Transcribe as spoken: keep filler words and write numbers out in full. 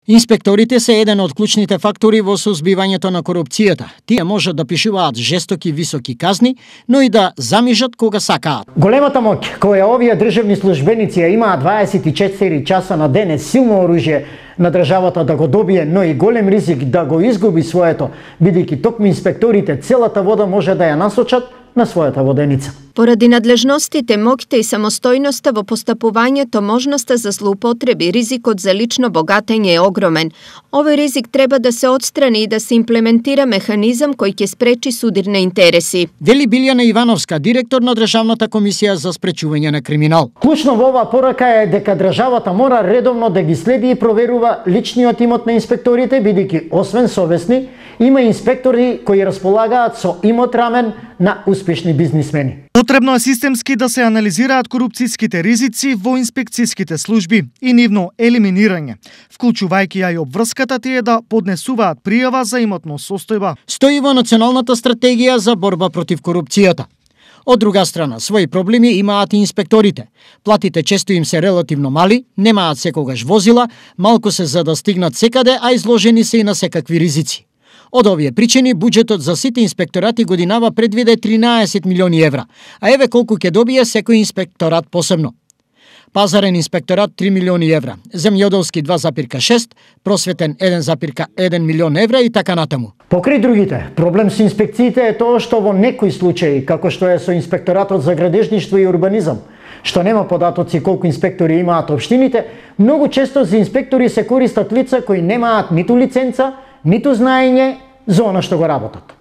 Инспекторите се еден од клучните фактори во сузбивањето на корупцијата. Тие можат да пишуваат жестоки високи казни, но и да замижат кога сакаат. Големата моќ која овие државни службеници ја имаат дваесет и четири часа на ден е силно оружје на државата да го добие, но и голем ризик да го изгуби своето, бидејќи токму инспекторите целата вода може да ја насочат на својата воденица. Поради надлежностите, моќта и самостојноста во постапувањето, можноста за злоупотреби, ризикот за лично богатење е огромен. Овој ризик треба да се отстрани и да се имплементира механизам кој ќе спречи судирни интереси. Вели Билјана Ивановска, директор на Државната комисија за спречување на криминал. Клучно во оваа порака е дека државата мора редовно да ги следи и проверува личниот имот на инспекторите, бидејќи освен совесни, има инспектори кои располагаат со имот рамен на успешни бизнисмени. Потребно е системски да се анализираат корупцијските ризици во инспекцијските служби и нивно елиминирање, вклучувајќи ја и обврската тие да поднесуваат пријава за имотно состојба. Стои во Националната стратегија за борба против корупцијата. Од друга страна, своји проблеми имаат и инспекторите. Платите често им се релативно мали, немаат секогаш возила, малку се за да стигнат секаде, а изложени се и на секакви ризици. Од овие причини, буџетот за сите инспекторати годинава предвиде тринаесет милиони евра, а еве колку ќе добие секој инспекторат посебно. Пазарен инспекторат три милиони евра, земјоделски два запирка шест, просветен еден запирка еден милион евра и така натаму. Покрај другите, проблем со инспекциите е тоа што во некои случаи, како што е со инспекторатот за градежништво и урбанизам, што нема податоци колку инспектори имаат општините, многу често за инспектори се користат лица кои немаат ниту лиценца, ниту знаење за она што го работат.